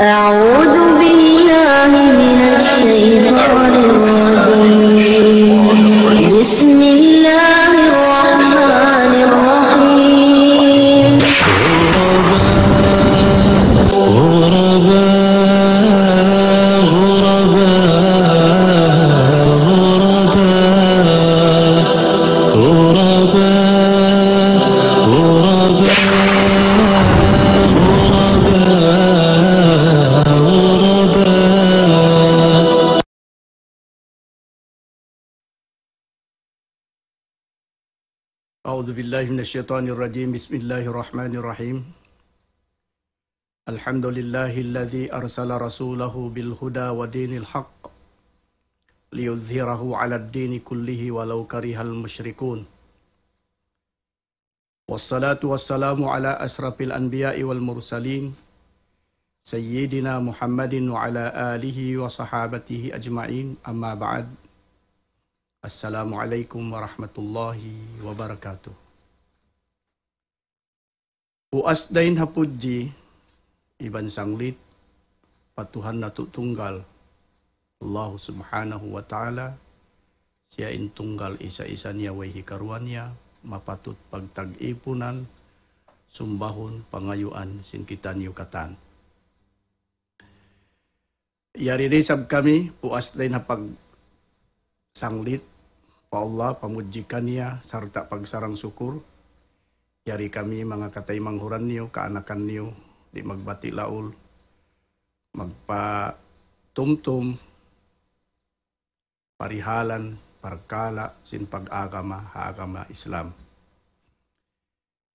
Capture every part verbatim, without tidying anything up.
أعوذ بالله من الشيطان الرجيم. بسم الله الرحمن الرحيم. أعوذ بالله من الشيطان الرجيم. بسم الله الرحمن الرحيم. الحمد لله الذي أرسل رسوله بالهدى ودين الحق ليظهره على الدين كله ولو كره المشركون. والصلاة والسلام على أشرف الأنبياء والمرسلين سيدنا محمد وعلى آله وصحابته أجمعين، أما بعد. السلام عليكم ورحمة الله وبركاته. Puas dayn ha pudji iban sanglit pa Tuhan natu' tunggal, Allahu Subhanahu wa Ta'ala, siya in tunggal isa-isa niya way hikaruwa niya, mapatut pagtag-ipunan, sumbahun, pangayuan sin kitaniyu katan. Yari da isab kami, puas dayn ha pagsanglit pa Allah, pamudji kaniya, sarta' pagsarang-sukur. Yari kami manga kataymanghuran niyu, kaanakan niyu, di' magbati' laul, magpatumtum, parihalan, parkala', sin pag-agama, ha agama Islam.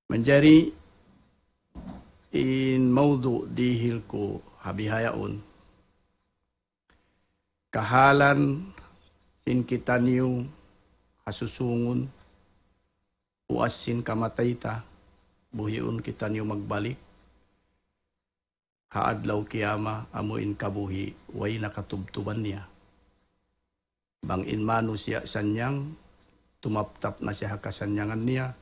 Manjari in mawdu' dihil ku ha bihaun, kahalan sin kitaniyu ha susungun, puas sin kamatay ta, buhiun kitaniyu magbalik ha adlaw kiyama, amu in kabuhi' way na katubtuban niya. Bang in manusiya' sanyang, tumaptap na siya ha kasannyangan niya.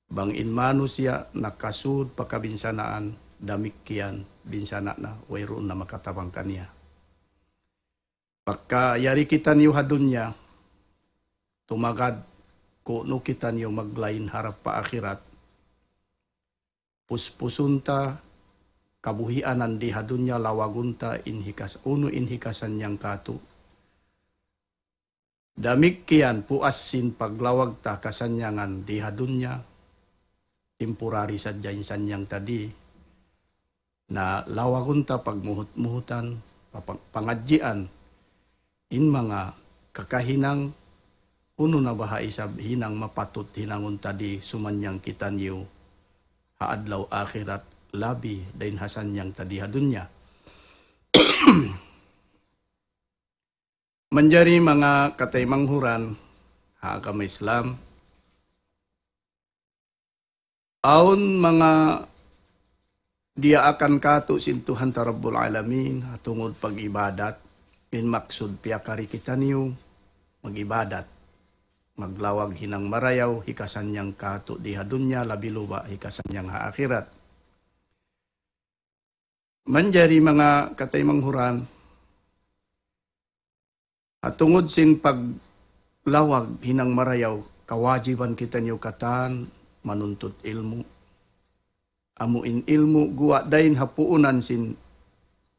Bang in manusiya' nakasud pa kabinsanaan, damikkiyan binsana' na, wayruun na makatabang kaniya. Pagka yari kitaniyu ha dunya, tumagad kunu' kitaniyu maglain harap pa akhirat. Puspusun ta kabuhianan di ha dunya, lawagun ta in hikas-, unu in hikasannyang katu'. Damikkiyan puas sin paglawag ta kasannyangan di ha dunya, temporary sadja in sannyang ta di. Na lawagun ta pagmuhut-muhutan, papang-, pangadjian, in manga kakahinang, unu na baha' isab hinang mapatut hinangun ta di sumannyang kitaniyu ha adlaw akhirat labi dayn ha sannyang ta di ha dunya. Manjari manga kataymanghuran ha agama Islam, awn manga diyaakan katu' sin Tuhan ta Rabbul Alamin, ha tungud pag-ibadat, in maksud piyakari kitaniyu mag-ibadat, maglawag hinang marayaw, hikasannyang katu' di ha dunya, labi luba hikasannyang ha akhirat. Manjari manga kataymanghuran, ha tungud sin paglawag hinang marayaw, kawajiban kitaniyu katan manuntut ilmu'. Amu in ilmu' guwa' dayn ha puunan sin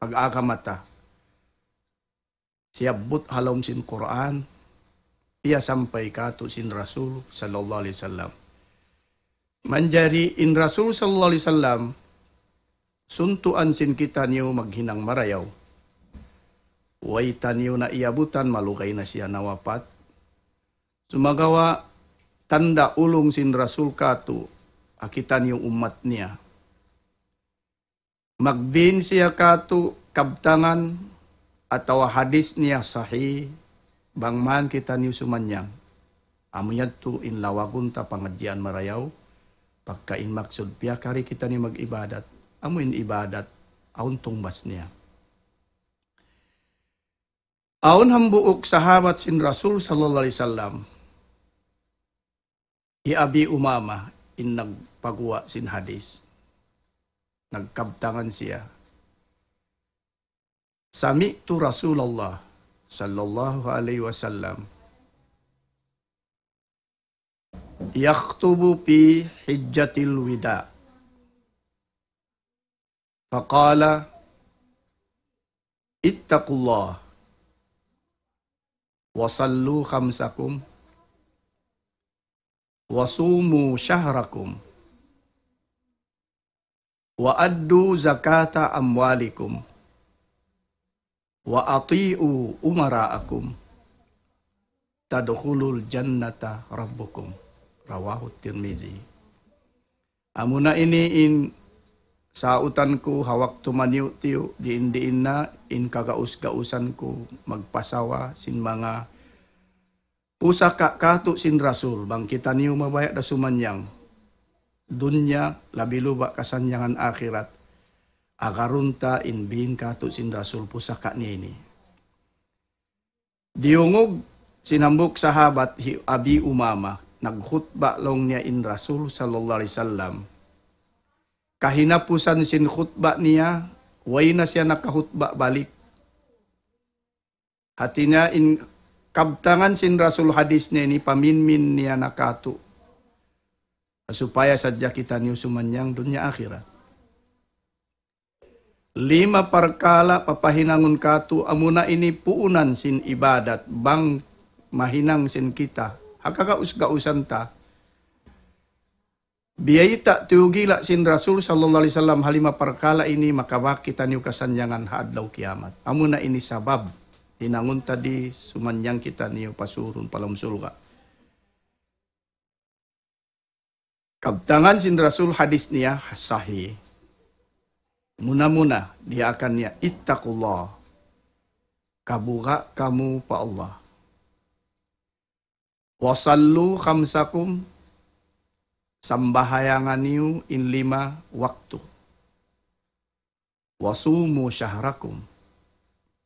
pag-agama ta. Siyabbut ha lawm sin Qur'an, piyasampay katu' sin Rasul sallallahu alayhi wasallam. Manjari in Rasul sallallahu alayhi wasallam, suntuan sin kitaniyu maghinang marayaw. Way taniyu na iyabutan, malugay na siya nawapat. Sumagawa' tanda' ulung sin Rasul katu' ha kitaniyu ummat niya. Magbin siya katu' kabtangan atawa hadis niya sahih, bang man kitaniyu sumannyang. Amu yadtu in lawagun ta pangadjian marayaw, pagka in maksud piyakari kitaniyu mag-ibadat, amu in ibadat, awn tungbas niya. Awn hambuuk sahabat sin Rasul sallallahu alayhi wasallam, hi Abi Umama in nagpaguwa' sin hadis. Nagkabtangan siya, سمعت رسول الله صلى الله عليه وسلم يخطب في حجة الوداع فقال: اتقوا الله وصلوا خمسكم وصوموا شهركم وأدوا زكاة أموالكم وأطيعوا أمراءكم تدخلوا الجنة ربكم. رواه الترمذي. Amuna ini in sautan ku ha waktu maniyu'-tiyu', diin-diin na in kagaus-gausan ku magpasawa sin manga pusaka katu' sin Rasul, bang kitaniyu mabaya' da sumannyang dunya, labi luba' kasannyangan akhirat. Agarun ta in biin katu' sin Rasul pusaka niya ini. Diyungug sin hambuuk sahabat hi Abi Umama, nagkhutba laung niya in Rasul sallallahu alayhi wasallam. Kahinapusan sin khutba niya, way na siya nakakhutba balik. Hati niya in kabtangan sin Rasul hadis niya ini paminmin niya na katu'. Supaya sadja kitaniyu sumannyang dunya akhirat. Lima parkala' papahinangun katu' amuna ini puunan sin ibadat bang mahinang sin kita. Ha kagaus-gausan ta. Biyayta' tiyugila' sin Rasul sallallahu alayhi wasallam ha lima parkala' ini makabak kitaniyu kasannyangan ha adlaw kiyamat. Amuna ini sabab hinangun ta di sumannyang kitaniyu pasurun pa lawm surga'. Kabtangan sin Rasul hadis niya sahih. Muna-muna, diyaakan niya, اتقوا الله. Kabuga' kamu pa Allah. وصلوا خمسكم. Sambahayangan niyu in lima waktu. وصوموا شهركم.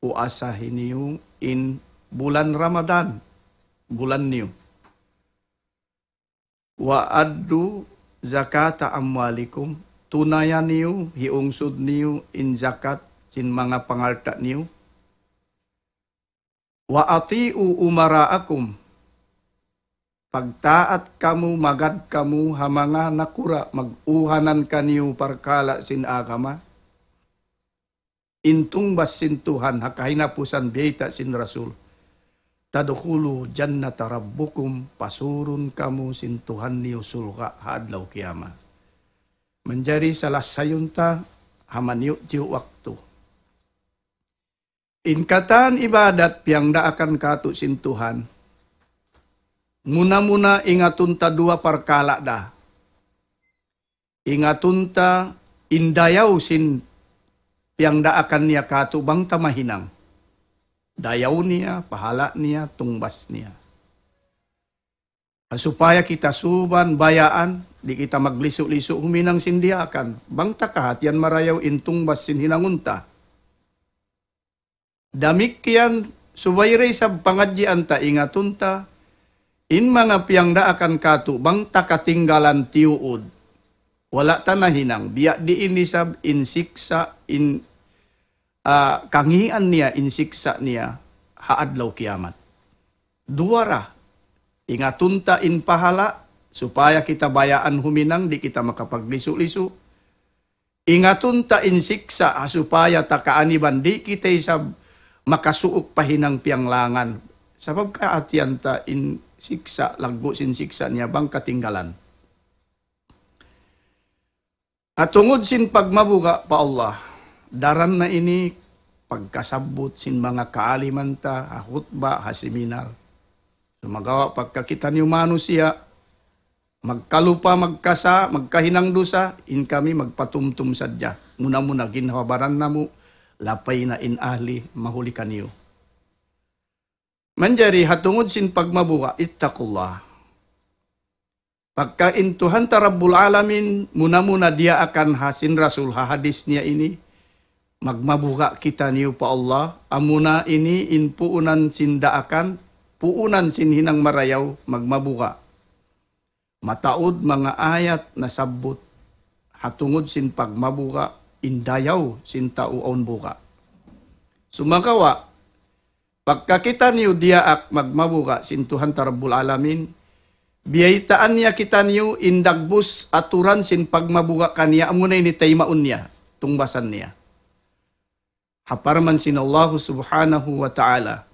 Puasahi niyu in bulan Ramadan, bulan niyu. وأدوا زكاة أموالكم. Tunaya niyu, hiungsud niyu in zakat sin manga pangalta' niyu. وأطيعوا أمراءكم. Pagtaat kamu, magad kamu ha manga nakura', mag-uhanan kaniyu parkala' sin agama. In tungbas sin Tuhan, ha kahinapusan biyayta' sin Rasul. تدخلوا جنة ربكم, pasurun kamu sin Tuhan niyu surga' ha adlaw kiyamat. Manjari salasayun ta ha maniyu'-tiyu' waktu. In katan ibadat piyangdaakan katu' sin Tuhan, muna-muna ingatun ta duwa parkala' da. Ingatun ta in dayaw sin piyangdaakan niya katu' bang ta mahinang. Dayaw niya, pahala' niya, tungbas niya. Supaya kita suban bayaan, di' kita maglisu'-lisu' huminang sin diyaakan. Bang ta kahatihan marayaw in tungbas sin hinangun ta. Damikkiyan, subay da isab pangadjian ta, ingatun ta, in manga piyangdaakan katu' bang ta katinggalan tiyuud. Wala' ta nahinang, biya' diin isab in siksa', in, ah, kangīan niya, in siksa' niya, ha adlaw kiyamat. Duwa ra, ingatun ta in pahala', supaya kita bayaan huminang, di' kita makapaglisu'-lisu'. Ingatun ta in siksa', ha supaya ta kaaniban, di' kita isab makasuuk pa hinang piyanglangan. Sabab kahatihan ta in siksa', laggu' sin siksa' niya bang katinggalan. Ha tungud sin pagmabuga' pa Allah, daran na ini pagkasabbut sin manga kaaliman ta, ha khutba, ha seminar. Sumagawa' pagka kitaniyu manusiya', magkalupa, magkasa, magkahinang dusa, in kami magpatumtum sadja. Muna-muna ginhawa-baran namu', lapay na in ahli, mahuli kaniyu. Manjari ha tungud sin pagmabuga', اتقوا الله. Pagka in Tuhan ta Rabbul Alamin, muna-muna diyaakan ha sin Rasul ha hadis niya ini, magmabuga' kitaniyu pa Allah, amuna ini in puunan sin daakan, puunan sin hinang marayaw, magmabuga'. Mataud manga ayat nasabbut ha tungud sin pagmabuga', in dayaw sin tau awn buga'. Sumagawa', pagka kitaniyu diyaak magmabuga' sin Tuhan ta Rabbul Alamin, biyaytaan niya kitaniyu in dagbus aturan sin pagmabuga' kaniya, amuna ini taymaun niya, tungbasan niya. Ha parman sin Allahu Subhanahu wa Ta'ala,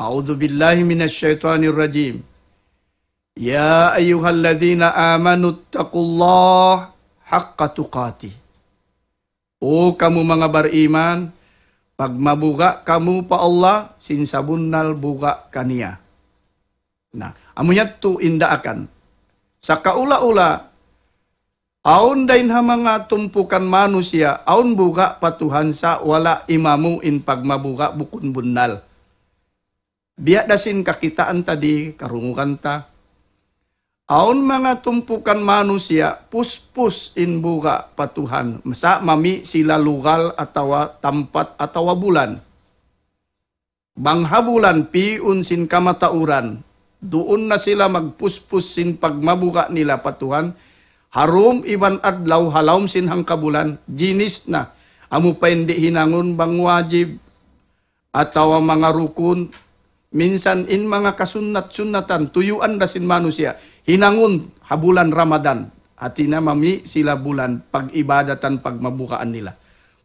أعوذ بالله من الشيطان الرجيم. يا أيها الذين آمنوا اتقوا الله حق تقاته. O kamu manga bariman, pagmabuga' kamu pa Allah sin sabunnal buga' kaniya. Na, amu yadtu in daakan. Sakaula-ula, awn dayn ha manga tumpukan manusiya', awn buga' pa Tuhan sa' wala' imamu in pagmabuga' bukun bunnal. Biya' da sin kakitaan ta di, karungugan ta. Awn manga tumpukan manusiya', puspus in buga' pa Tuhan. Sa' mami' sila lugal atawa tampat atawa bulan. Bang ha bulan, pi'un sin kamatauran, duun na sila magpuspus sin pagmabuga' nila pa Tuhan, ha dum iban adlaw, ha lawm sin hangkabulan, jinis na, amu pa in di' hinangun bang wajib, atawa manga rukun, minsan in manga kasunnat-sunnatan, tuyuan da sin manusiya', hinangun ha bulan Ramadan, hati niya mami' sila bulan, pag-ibadatan, pagmabugaan nila.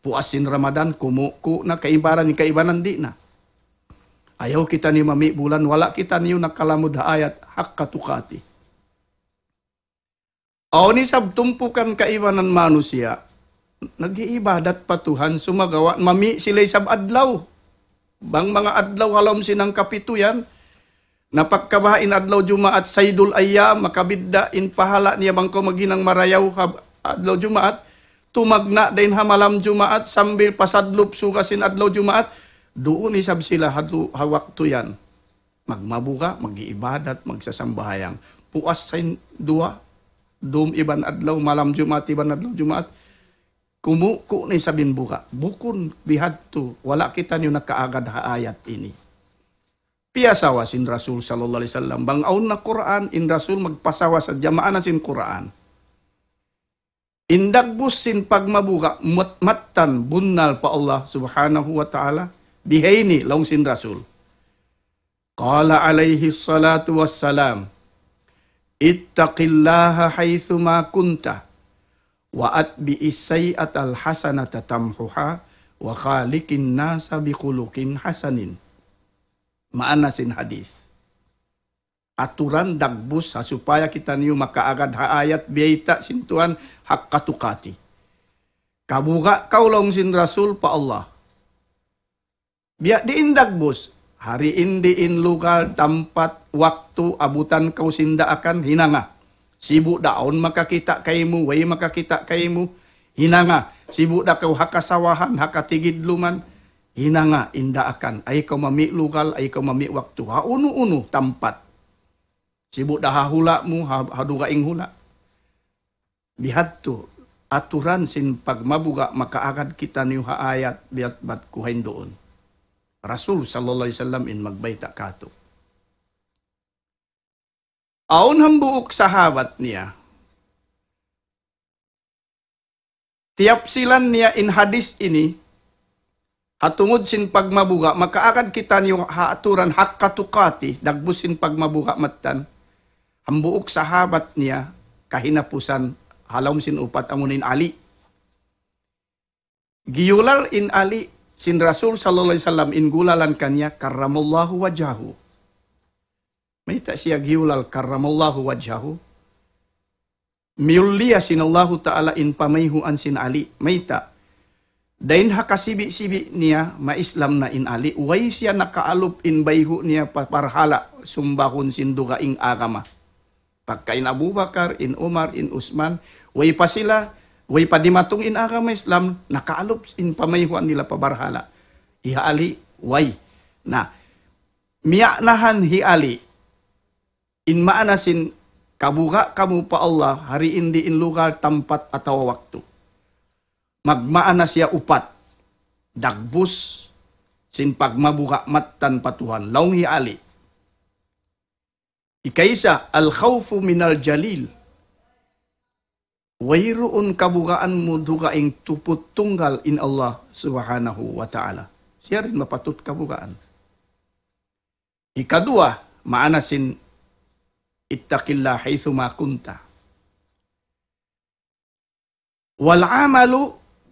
Puas sin Ramadan, kumuku' na kaibanan, kaibanan di' na. Ayaw kitaniyu mami' bulan, wala' kitaniyu nakalamud ha ayat haqqa tuqatih. Awn isab tumpukan kaibanan manusiya', nag-iibadat pa Tuhan, sumagawa' mami' sila isab adlaw. Bang manga adlaw ha lawm sin hangkapitu yan, na pagka baha' in adlaw Jumaat, saydul ayyam, makabidda' in pahala' niya bang kaw maghinang marayaw ha adlaw Jumaat, tumagna' dayn ha malam Jumaat sambil pasadlup suga sin adlaw Jumaat, duun isab sila ha du-, ha waktu yan. Magmabuga', mag-iibadat, magsasambahayang. Puas sin duwa, dum iban adlaw, malam Jumaat iban adlaw Jumaat. Kumuku' na isab in buga'. Bukun bihadtu, wala' kitaniyu nakaagad ha ayat ini. Piyasawa sin Rasul sallallahu alayhi wasallam. Bang awn na Qur'an, in Rasul magpasawa sadja, maana sin Qur'an. In dagbus sin pagmabuga' mat-, mattan bunnal pa Allah Subhanahu wa Ta'ala, bihayni laung sin Rasul. قال عليه الصلاة والسلام: اتق الله حيثما كنت وأتبع السيئة الحسنة تمحها وخالق الناس بخلق حسن. Maana sin hadith. Aturan dagbus ha supaya kitaniyu makaagad ha ayat biyayta' sin Tuhan haqqa tuqatih. Kabuga' kaw laung sin Rasul pa Allah. Biya' diin dagbus, ha diin-diin lugal, tampat, waktu, abutan kaw sin daakan, hinanga. Sibu' da awn makakita' kaymu, way makakita' kaymu, hinanga. Sibu' da kaw ha kasawahan, ha katigidluman, hinanga in daakan. Ay kaw mami' lugal, ay kaw mami' waktu. Ha unu-unu tampat. Sibu' da ha hula' mu, ha, ha dugaing hula'. Bihadtu, aturan sin pagmabuga' makaagad kitaniyu ha ayat biya' bat ku hain duun. Rasul sallallahu alayhi wasallam in magbayta' kātu'. Awn hambuuk sahabat niya, tiyapsilan niya in hadith ini, ha tungud sin pagmabuga', makaagad kitaniyu ha aturan haqqa tuqatih, dagbus sin pagmabuga' mattan. Hambuuk sahabat niya, kahinapusan, ha lawm sin upat amu in Ali. Giyulal in Ali, sin Rasul sallallahu alayhi wasallam in gulalan kaniya, karramallahu wajhahu. Mayta' siya giyulal karramallahu wajhahu? Miyulliya sin Allahu Ta'ala in pamayhuan sin Ali. Mayta'? Dayn ha kasibi'-sibi' niya, ma-Islam na in Ali. Way siya nakaalup in bayhu' niya pa barhala' sumbahun sin dugaing agama. Pagka in Abu Bakar, in Umar, in Usman, way pa sila, way pa dimatung in agama Islam, nakaalup in pamayhuan nila pa barhala'. Hi Ali, way. Na, miya'nahan hi Ali, in maana sin kabuga' kamu pa Allah, ha diin-diin lugal, tampat, atawa waktu. Magmaana siya upat. Dagbus sin pagmabuga' mattan pa Tuhan. Laung hi Ali. Ikaisa, الخوف من الجليل. Wayruun kabugaan mu dugaing tuput tunggal in Allah Subhanahu wa Ta'ala. Siya da in mapatut kabugaan. Ikaduwa, maana sin اتق الله حيثما كنت. والعمل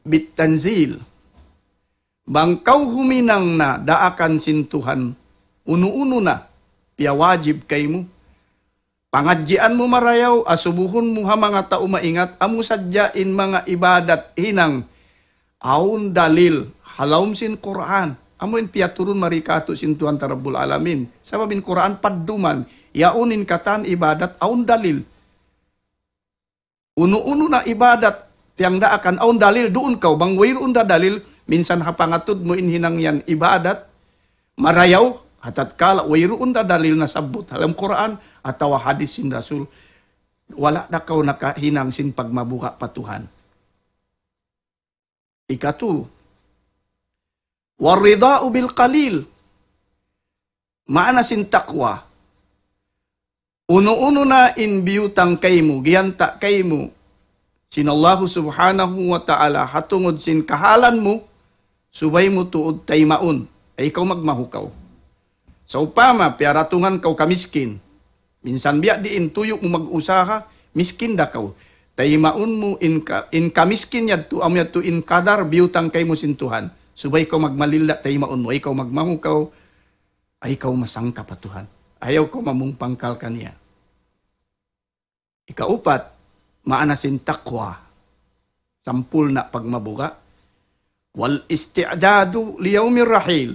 بالتنزيل. Bang kaw huminang na daakan sin Tuhan, unu-unu na piyawajib kaymu, pangadjian mu marayaw, asubuhun mu ha manga tau maingat, amu sadja in manga ibadat hinang awn dalil ha lawm sin Qur'an. Amu in piyaturun mari katu' sin Tuhan ta Rabbul Alamin. Sabab in Qur'an padduman, yaun in katan ibadat awn dalil. Unu-unu na ibadat, piyangdaakan awn dalil, duun kaw, bang wayruun da dalil, minsan ha pangatud mu in hinang yan ibadat, marayaw, ha tatkala wayruun da dalil nasabbut ha lawm Qur'an, atawa hadis sin Rasul, wala' da kaw nakahinang sin pagmabuga' pa Tuhan. Ikatu, والرضا بالقليل. Maana sin taqwa. Unu-unu na in biyutang kaymu, giyanta' kaymu sin Allahu Subhanahu wa Ta'ala, ha tungud sin kahalan mu, subay mu tuud taymaun, ay kaw magmahukaw. Sawpama, piyaratungan kaw kamiskin, minsan biya' diin tuyu' mu mag-usaha, miskin da kaw. Taymaun mu in ka-, in kamiskin yadtu, amu yadtu in kadar biyutang kaymu sin Tuhan. Subay kaw magmalilla, taymaun mu, ay kaw magmahukaw, ay kaw masangka pa Tuhan. Ayaw kaw mamungpangkal kaniya. Ikaupat, maana sin taqwa. Sampurna' pagmabuga'. والاستعداد ليوم الرحيل.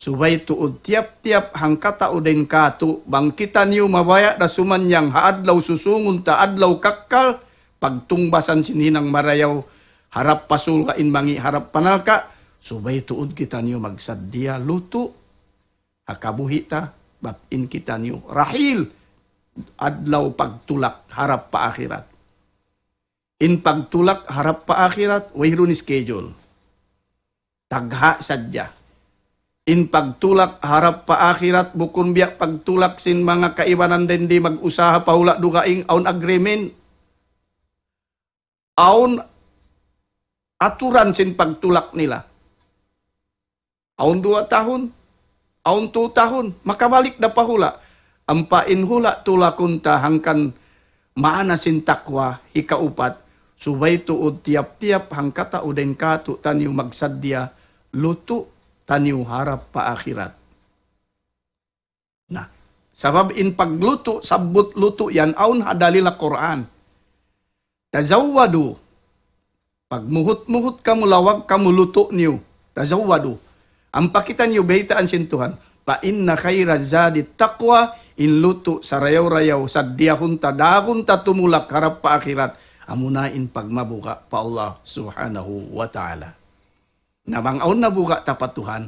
Subay tuud tiyap-tiyap hangkatau dayn katu', bang kitaniyu mabaya' da sumannang ha adlaw susungun ta adlaw kakkal, pagtungbasan sin hinang marayaw, harap pa surga' in mangi' harap pa narka', subay tuud kitaniyu magsaddiya lutu', ha kabuhi' ta, bat in kitaniyu rahil, adlaw pagtulak harap pa akhirat. In pagtulak harap pa akhirat, wayruun schedule. Tagha' sadja. In pagtulak harap pa akhirat, bukun biya' pagtulak sin manga kaibanan dindi mag-usaha pa hula' dugaing, awn agreement, awn aturan sin pagtulak nila. Awn duwa tahun, awn tu tahun, makabalik da pa hula'. Ampa in hula' tulakun ta hangkan maana sin taqwa, hikaupat, subay tuud tiyap-tiyap hangkatau dayn katu'taniyu magsaddiya, lutu' taniyu harap pa akhirat. Na, sabab in paglutu', sabbut lutu' yan, awn ha dalil ha Qur'an. تزودوا. Pagmuhut-muhut kamu, lawag kamu lutu' niyu. تزودوا. Ampa kitaniyu baytaan sin Tuhan. فإن خير الزاد التقوى, in lutu' sarayaw-rayaw, saddiyahun ta, dagun ta tumulak harap pa akhirat. Amuna in pagmabuga' pa Allah Subhanahu wa Ta'ala. Na bang awn nabuga' ta pa Tuhan,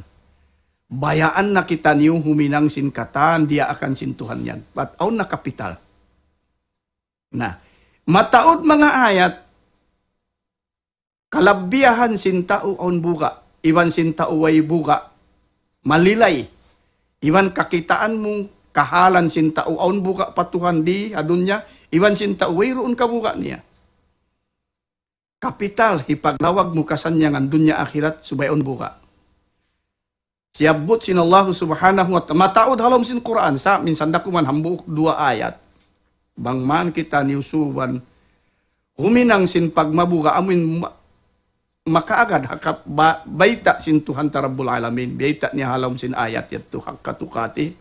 bayaan na kitaniyu huminang sin katan diyaakan sin Tuhan yan. Bat awn na kapital. Na, mataud manga ayat, kalabbiyahan sin tau awn buga', iban sin tau way buga', malilay, iban kakitaan mu kahalan sin tau awn buga' pa Tuhan di ha dunya, iban sin tau wayruun kabuga' niya. Kapital, hipaglawag mu kasannyangan dunya akhirat, subay awn buga'. Siyabbut sin Allahu Subhanahu wa Ta'ala, mataud ha lawm sin Qur'an, sa' minsan da kuman hambuuk duwa ayat. Bang man kitaniyu suban, huminang sin pagmabuga', amuin ma-, makaagad ha kap-, ba-, bayta' sin Tuhan ta Rabbul Alamin, bayta' niya ha lawm sin ayat yadtu, حق تقاته.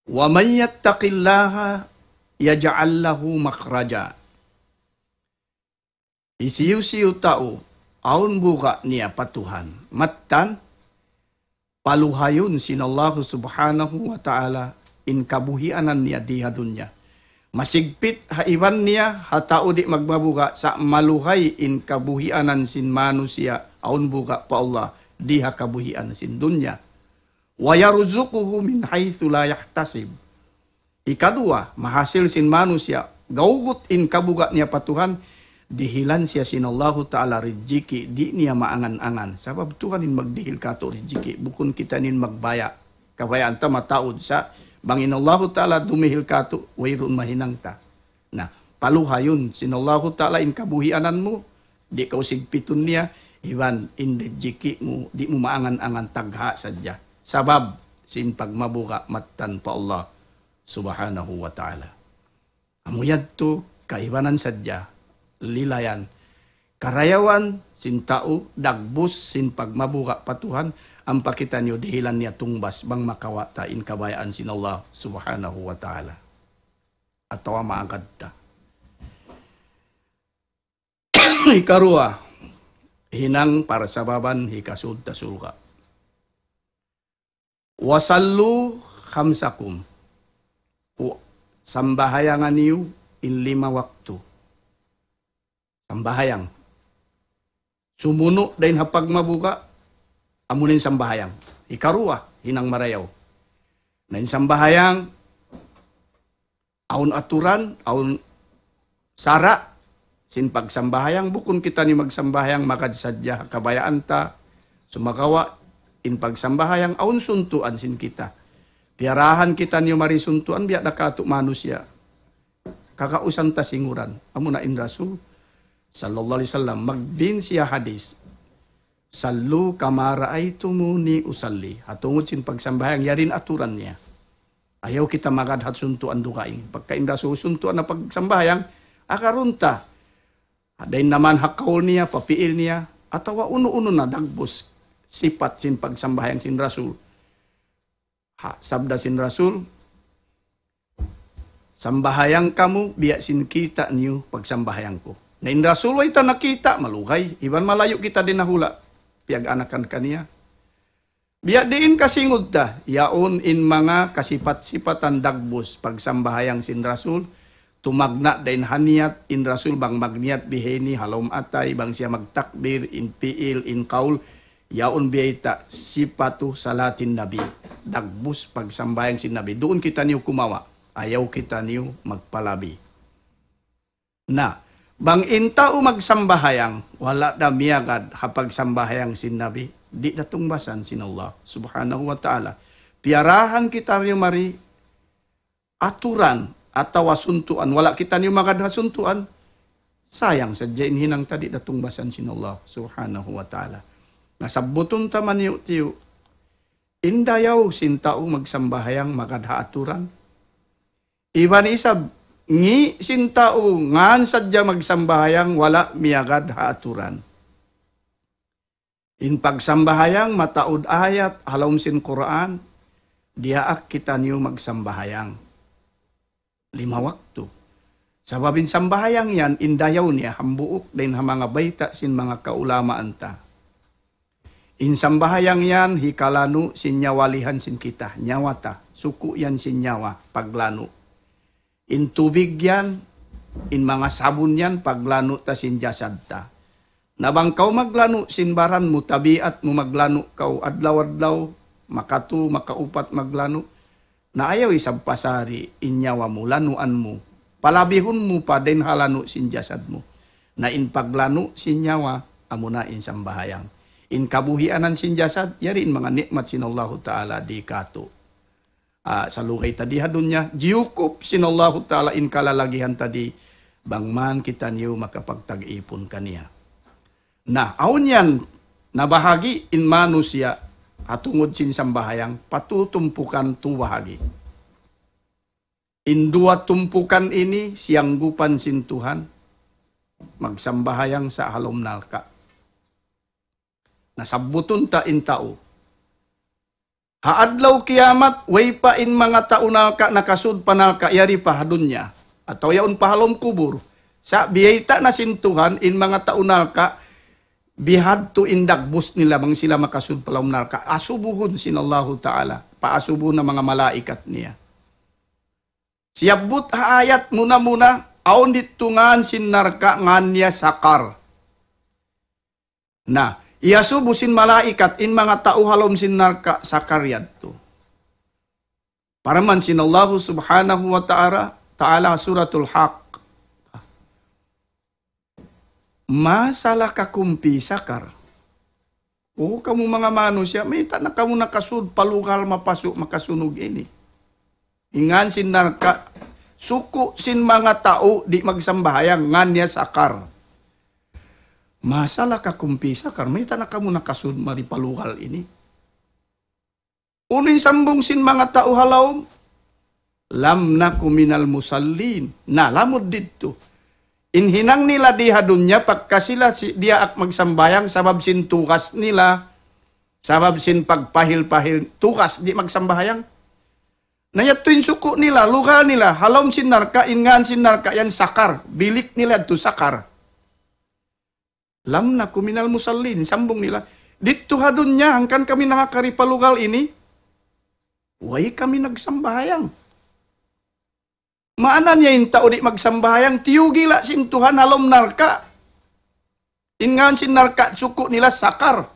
ومن يتق الله يجعل له مخرجا. Hisiyu-siyu tau awn buga' niya pa Tuhan, mattan paluhayun sin Allahu Subhanahu wa Ta'ala in kabuhianan niya di ha dunya. Masigpit ha iban niya ha tau di' magmabuga', sa' maluhay in kabuhianan sin manusiya' awn buga' pa Allah di ha kabuhian sin dunya. ويرزقه من حيث لا يحتسب. Ikaduwa, mahasil sin manusiya', gawgut in kabuga' niya pa Tuhan, dihilan siya sin Allahu Ta'ala rijiki', di' niya maangan-angan. Sabab Tuhan in magdihil katu' rijiki', bukun kita in magbaya'. Kabayaan ta mataud sa', bang in Allahu Ta'ala dumihil katu', wayruun mahinang ta. Na, paluhayun sin Allahu Ta'ala in kabuhianan mu, di' kaw sigpitun niya, Iban in rijiki' mu, di' mu maangan-angan, tagha sadja. Sabab sin pagmabuga' mattan pa Allah Subhanahu wa Ta'ala. Amu yadtu, kaibanan sadja, lilayan, karayawan sin tau, dagbus sin pagmabuga' pa Tuhan, ampa kitaniyu dihilan niya tungbas bang makawa' ta in kabayaan sin Allah Subhanahu wa Ta'ala. Atawa maagad ta. Hikaruwa, hinang parsababan hikasud ta surga'. وصلوا خمسكم. Pu-, sambahayangan niyu in lima waktu. Sambahayang. Sumunu' dayn ha pagmabuga', amu na in sambahayang. Hikaruwa, hinang marayaw. Na in sambahayang, awn aturan, awn sara' sin pagsambahayang, bukun kitaniyu magsambahayang magad sadja ha kabayaan ta, sumagawa' in pagsambahayang awn suntuan sin kita. Piyarahan kitaniyu mari suntuan, biya' da katu' manusiya'. Kagausan ta singuran. Amuna in Rasul, sallallahu alayhi wasallam, magbin siya hadis, صلوا كما رأيتموني أصلي. Ha tungud sin pagsambahayang, yari in aturan niya. Ayaw kita magad ha suntuan dugaing. Pagka in Rasul suntuan na pagsambahayang, akarun ta. Dayn naman ha kaul niya, pa piil niya, atawa unu-unu na dagbus sipat sin pagsambahayang sin Rasul. Ha, sabda sin Rasul, "Sambahayang kamu, biya' sin kita' niyu pagsambahayang ku." Na in Rasul way ta nakita', malugay. Iban malayu' kita dayn ha hula'. Piyag-anakan kaniya. Biya' diin kasingud ta, yaun in manga kasipat-sipatan dagbus pagsambahayang sin Rasul, tumagna' dayn ha niyat in Rasul bang magniyat bihaini ha lawm atay, bang siya magtakbir, in piil, in kaul, yaun biyayta' sipatu salatin Nabi. Dagbus pagsambahayang sin Nabi. Duun kitaniyu kumawa'. Ayaw kitaniyu magpalabi. Na, bang in tau magsambahayang, wala' da miyagad ha pagsambahayang sin Nabi, di' da tungbasan sin Allah Subhanahu wa Ta'ala. Piyarahan kitaniyu mari aturan atawa suntuan, wala' kitaniyu magad ha suntuan, sayang sadja in hinang ta, di' da tungbasan sin Allah Subhanahu wa Ta'ala. Na sabbutun ta maniyu'-tiyu', in dayaw sin tau magsambahayang magad ha aturan. Iban isab, ngi' sin tau ngan sadja magsambahayang wala' miyagad ha aturan. In pagsambahayang mataud ayat ha lawm sin Qur'an, diyaak kitaniyu magsambahayang lima waktu. Sabab in sambahayang yan, in dayaw niya, hambuuk dayn ha manga bayta' sin manga kaulamaan ta. In sambahayang yan, hikalanu' sin nyawalihan sin kita, nyawa ta, suku' yan sin nyawa, paglanu'. In tubig yan, in manga sabun yan, paglanu' ta sin jasad ta. Na bang kaw maglanu' sin baran mu, tabiat mu maglanu' kaw adlaw-adlaw, makatu, makaupat maglanu', na ayaw isab pasari in nyawa mu, lanuan mu, palabihun mu pa dayn ha lanu' sin jasad mu. Na in paglanu' sin nyawa, amuna in sambahayang. In kabuhianan sin jasad, yari in manga nikmat sin Allahu Ta'ala di katu'. Ah, salugay ta di ha dunya, jiyukup sin Allahu Ta'ala in kalalagihan ta di, bang man kitaniyu makapagtag-ipun kaniya. Na, awn yan, nabahagi' in manusiya' ha tungud sin sambahayang, pa tu tumpukan, tu bahagi'. In duwa tumpukan ini, siyanggupan sin Tuhan, magsambahayang sa' ha lawm narka'. Na, sabbutun ta in tau. Ha adlaw kiyamat, way pa in manga tau narka' nakasud pa narka', yari pa ha dunya. Atawa yaun pa ha lawm kubul. Sa' biyayta' na sin Tuhan, in manga tau narka', bihadtu in dagbus nila bang sila makasud pa lawm narka'. Asubuhun sin Allahu Ta'ala. Paasubuhun na manga malaikat niya. Siyabbut ha ayat muna-muna, awn didtu ngan sin narka', ngan niya Sakar. Na, iyasubu sin malaikat in manga tau ha lawm sin narka' Sakar yadtu. Parman sin Allahu Subhanahu wa Ta'ala, Ta'ala Suratul Haqq. ما سلككم في سقر؟ O kamu manga manusiya', mayta' na kamu nakasud pa lugal mapasu' makasunug ini? In ngan sin narka', suku' sin manga tau di' magsambahayang, ngan niya Sakar. ما سلككم في سقر, mayta' na kamu nakasud mari pa lugal ini? Unu in sambung sin manga tau ha lawm? لم نك من المصلين. Na, lamud didtu. In hinang nila di ha dunya, pagka sila si-, diyaak magsambahayang, sabab sin tugas nila, sabab sin pagpahil-pahil, tugas di' magsambahayang. Na yadtu in suku' nila, lugal nila, ha lawm sin narka', in ngān sin narka' yan Sakar, bilik nila yadtu Sakar. لم نك من المصلين, sambung nila. Didtu ha dunya, hangkan kami nangakari pa lugal ini, way kami nagsambahayang. Maana niya in tau di' magsambahayang, tiyugila' sin Tuhan ha lawm narka'. In ngān sin narka' suku' nila Sakar.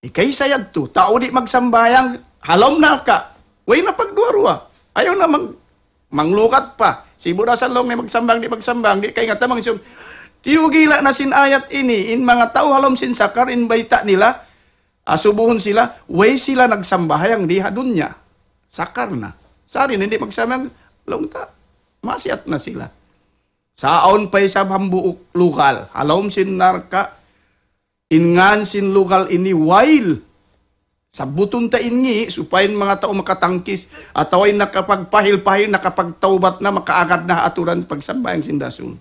Ikaisa yadtu, tau di' magsambahayang ha lawm narka'. Way na pagduwa-ruwa. Ayaw na mang-, manglukat pa. Sibu' da sa laung niya magsambahayang, di' magsambahayang, di' kaingatan mangsum. Tiyugila' na sin ayat ini, in manga tau ha lawm sin Sakar, in bayta' nila, asubuhun sila, way sila nagsambahayang di ha dunya. Sakar na. Sari na di' magsambahayang, laung ta, maksiyat na sila. Sa' awn pa isab hambuuk lugal, ha lawm sin narka', in ngān sin lugal ini Wail. Sabbutun ta in ngi', supaya in manga tau makatangkis, atawa in nakapagpahil-pahil, nakapagtawbat na, makaagad na ha aturan pagsambahayang sin Rasul.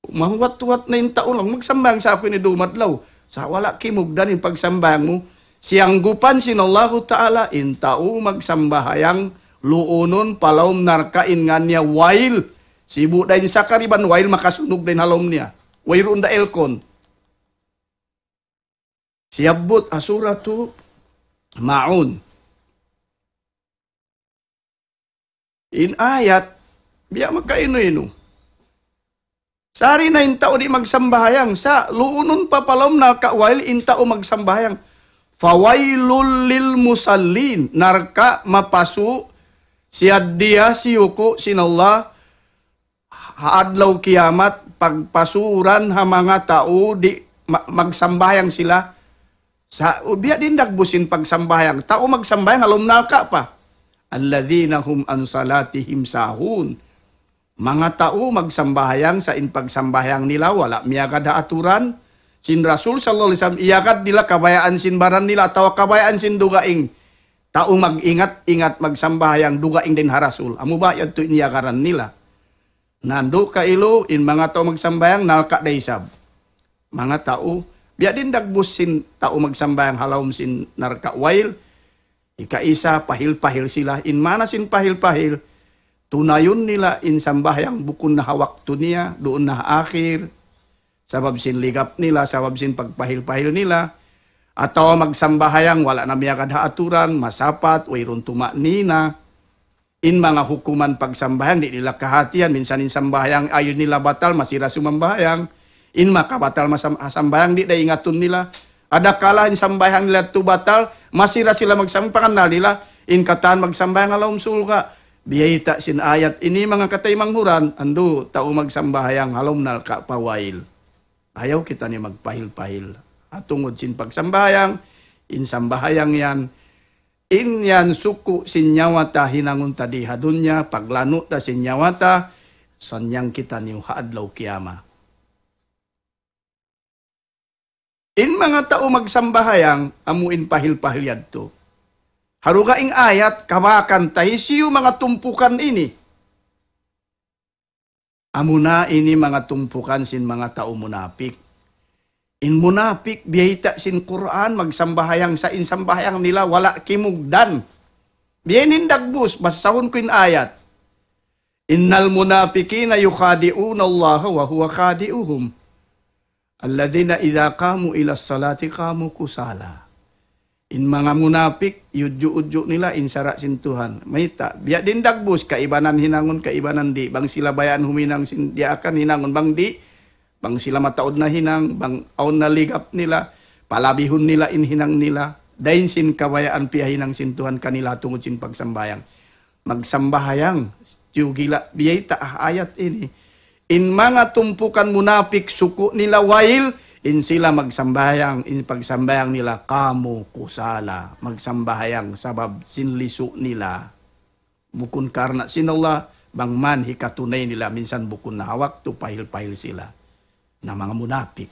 Mahuwat-huwat na in tau laung, magsambahayang sa aku ini dumadlaw. Sa' wala' kimugdan in pagsambahayang mu. Siyanggupan sin Allahu Ta'ala, in tau magsambahayang luunun pa lawm narka' in ngān niya Wail. Sibu' da in Sakar iban Wail makasunug da in ha lawm niya. Wayruun da aircon. Siyabbut ha Suratu Maun. In ayat, biya' makainu-inu. Sari na in tau di' magsambahayang, sa' luunun pa pa lawm narka' Wail in tau magsambahayang. فويل للمصلين, narka' mapasu', siyaddiya siyuku' sin Allah, ha adlaw kiyamat, pagpasuran ha manga tau di' ma-, magsambahayang sila. Sa', u-, biya' diin dagbus sin pagsambahayang. Tau magsambahayang, ha lawm narka' pa. الذين هم عن صلاتهم ساهون. Manga tau magsambahayang sa' in pagsambahayang nila, wala' miyagad ha aturan sin Rasul sallallahu alayhi wasallam, iyagad nila kabayaan sin baran nila atawa kabayaan sin dugaing. Tau mag-ingat-ingat magsambahayang dugaing dayn ha Rasul. Amu ba yadtu in iyagaran nila? Nandu' kailu, in manga tau magsambahayang, narka' da isab. Manga tau, biya' diin dagbus sin tau magsambahayang ha lawm sin narka' Wail, ikaisa, pahil-pahil sila. In maana sin pahil-pahil, tunayun nila in sambahayang bukun na ha waktu niya, duun na ha akhir, sabab sin ligap nila, sabab sin pagpahil-pahil nila, atawa magsambahayang, wala' na miyagad ha aturan, masapat, wayruun tuma'nina. In manga hukuman pagsambahayang, di' nila kahatihan. Minsan in sambahayang ayil nila batal, masi da sumambahayang. In makabatal masam-, sambahayang, di' da ingatun nila. Adakala in sambahayang nila tu batal, masi da sila magsam-, pangannal nila, in katan magsambahayang ha lawm surga'. Biyayta' sin ayat ini manga kataymanghuran, andu', tau magsambahayang ha lawm narka' pa Wail. Ayaw kitaniyu magpahil-pahil. Ha tungud sin pagsambahayang, in sambahayang yan, in yan suku' sin nyawa ta hinangun ta di ha dunya, paglanu' ta sin nyawa ta, sanyang kitaniyu ha adlaw kiyamat. In manga tau magsambahayang, amu in pahil-pahil yadtu. Ha dugaing ayat, kabakan ta hisiyu manga tumpukan ini. Amuna ini manga tumpukan sin manga tau munapik. In munapik, biyayta' sin Qur'an, magsambahayang sa' in sambahayang nila, wala' kimugdan. Biya' ini in dagbus, basahun ku in ayat. إن المنافقين يخادعون الله وهو خادعهم. الذين إذا قاموا إلى الصلاة قاموا كسالى. In manga munapik, iyudju'-udju' nila in sara' sin Tuhan. Mayta', biya' diin dagbus, kaibanan hinangun, kaibanan di'. Bang sila bayaan huminang sin diyaakan hinangun, bang di', bang sila mataud na hinang, bang awn na ligap nila, palabihun nila in hinang nila. Dayn sin kabayaan piyahinang sin Tuhan kanila tungud sin pagsambahayang. Magsambahayang, tiyugila', biyayta' ha ayat ini. In manga tumpukan munapik suku' nila Wail, in sila magsambahayang, in pagsambahayang nila, قاموا كسالى, magsambahayang sabab sin lisu' nila. Bukun karna' sin Allah, Bang man hikatunay nila minsan bukun na ha waktu, pahil-pahil sila. Na manga munapik.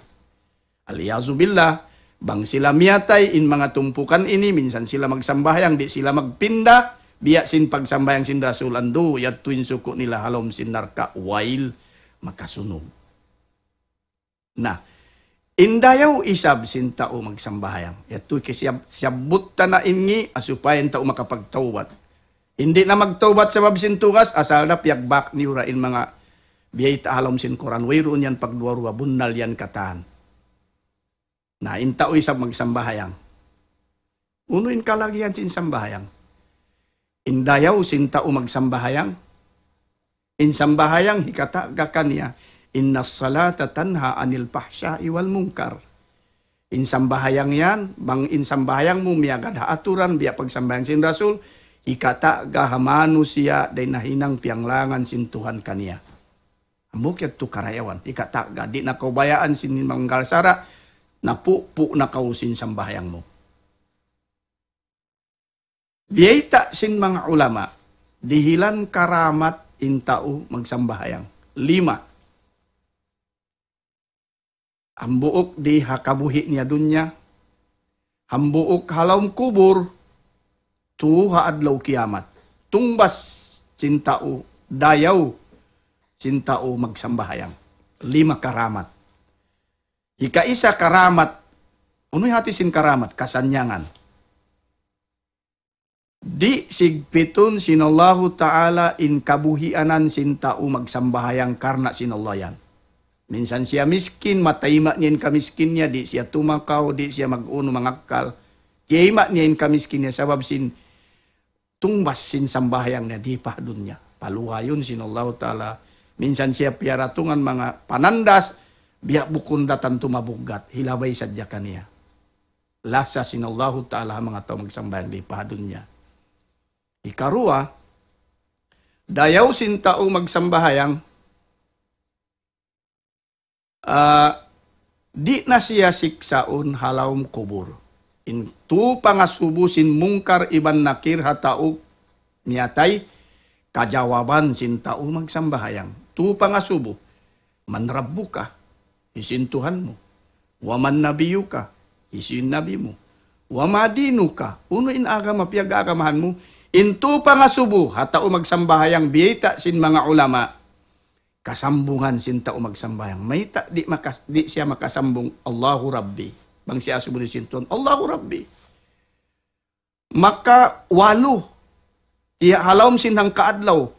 Al-iyazu billah, bang sila miyatay in manga tumpukan ini, minsan sila magsambahayang, di' sila magpinda, biya' sin pagsambahayang sin Rasul, andu', yadtu in suku' nila ha lawm sin narka', wail, makasunug. Na, in dayaw isab sin tau magsambahayang. Yadtu kiyasiyab-, siyabbut ta na ini, ah, supaya in tau makapagtawbat. Di' na magtawbat sabab sin tugas, asal da piyagbak niyu ra in manga biyayta' ha lawm sin Qur'an. Wayruun yan pagduwa-ruwa, bunnal yan katan. Na, in tau isab magsambahayang. Unu in kalagihan sin sambahayang? In dayaw sin tau magsambahayang. In sambahayang hikata'ga kaniya, إن الصلاة تنهى عن الفحشاء والمنكر. In sambahayang yan, bang in sambahayang mu miyagad ha aturan, biya' pagsambahayang sin Rasul, hikata'ga ha manusiya' dayn ha hinang piyanglangan sin Tuhan kaniya. Hambuuk yadtu karayawan, hikata'ga, di' na kaw bayaan sin manggal sara', napupu' na kaw sin sambahayang mu. Biyayta' sin manga ulama, dihilan karamat in tau magsambahayang. Lima. Hambuuk di ha kabuhi' niya dunya. Hambuuk ha lawm kubul. Tū ha adlaw kiyamat. Tungbas sin tau, dayaw sin tau magsambahayang. Lima karamat. Hikaisa karamat. Unu in hati sin karamat? Kasannyangan. Di' sigpitun sin Allahu Ta'ala in kabuhianan sin tau magsambahayang karna' sin Allah yan. Minsan siya miskin, matayma' niya in kamiskin niya, di' siya tumakaw, di' siya mag-unu mangakkal. Tiyayma' niya in kamiskin niya sabab sin tungbas sin sambahayang niya di pa ha dunya. Paluhayun sin Allahu Ta'ala. Minsan siya piyaratungan manga panandas, biya' bukun da tantu mabuggat, hilabay sadja kaniya. Lasa sin Allahu Ta'ala ha manga tau magsambahayang di pa ha dunya. Ikaruwa, dayaw sin tau magsambahayang, ah, di' na siya siksaun ha lawm kubul. In tū pangasubu sin Munkar iban Nakir ha tau miyatay, kajawaban sin tau magsambahayang. Tū pangasubu, من ربك, hisiyu in Tuhan mu? ومن نبيك, hisiyu in nabi mu? وما دينك, unu in agama piyag-agamahan mu? In tū pangasubu ha tau magsambahayang, biyayta' sin manga ulama, kasambungan sin tau magsambahayang. Mayta' di' makas-, di' siya makasambung, الله ربي. Bang siya asubu niya sin Tuhan, الله ربي. Maka walu, tiya' ha lawm sin hangka adlaw,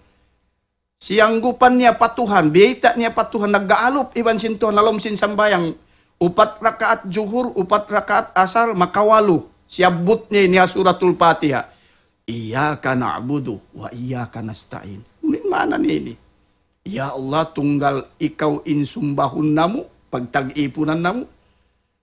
siyanggupan niya pa Tuhan, biyayta' niya pa Tuhan, nag-aalup iban sin Tuhan ha lawm sin sambahayang, upat rakaat Juhur, upat rakaat Asar, makawalu. Siyabbut niya ini ha Suratul Fatiha. إياك نعبد وإياك نستعين. Unu in maana niya ini? Ya Allah, tunggal ikaw in sumbahun namu', pagtag-ipunan namu'.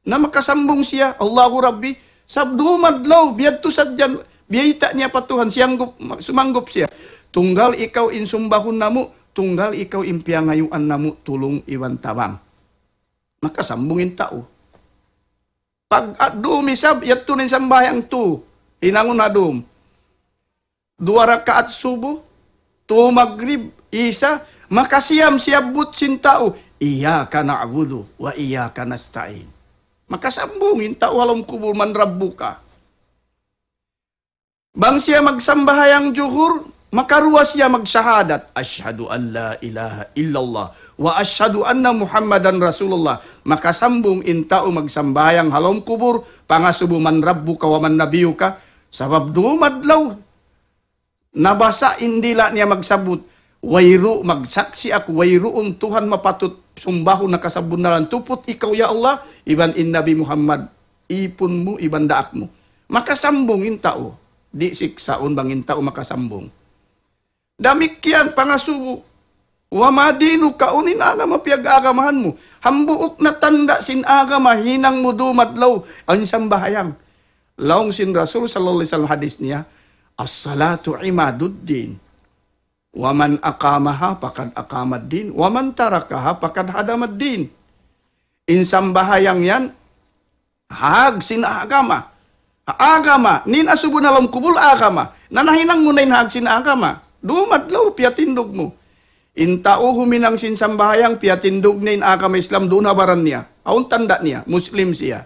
Na makasambung siya, الله ربي, sab dum adlaw, biyadtu sadja, biyayta' niya pa Tuhan, siyanggup, sumanggup siya. Tunggal ikaw in sumbahun namu', tunggal ikaw in piyangayuan namu', tulung iban tabang. Makasambung in tau. Pag, ah, dum isab, yadtu na in sambahayang tū, hinangun ha dum. Duwa rakaat subu, tū magrib, isa, makasiyam siyabbut sin tau, إياك نعبد وإياك نستعين. Makasambung in tau ha lawm kubul, من ربك. Bang siya magsambahayang Juhur, makaruwa siya magsahadat, أشهد أن لا إله إلا الله وأشهد أن محمدا رسول الله. Makasambung in tau magsambahayang ha lawm kubul, pangasubu, من ربك ومن نبيك. Sabab dum adlaw, nabasa' in dila' niya magsabbut, wayru-, magsaksi' aku, wayruun Tuhan mapatut sumbahun ha kasabunnalan tuput ikaw, ya Allah, iban in Nabi Muhammad, ipun mu, iban daak mu. Makasambung in tau. Di' siksaun bang in tau makasambung. Damikkiyan pangasubu. وما دينك, unu in agama piyag-agamahan mu? Hambuuk na tanda' sin agama, hinang mu dum adlaw, in sambahayang. Laung sin Rasul sallallahu alayhi wasallam hadis niya, الصلاة عماد الدين. ومن أقامها فقد أقام الدين. ومن تركها فقد هدم الدين. In sambahayang yan, hag sin agama. Agama, in asubu ha lawm kubul agama. Na nahinang mu na in hag sin agama. Dumadlaw, piyatindug mu. In tau huminang sin sambahayang, piyatindug niya in agama Islam duun ha baran niya. Awn tanda' niya, Muslim siya.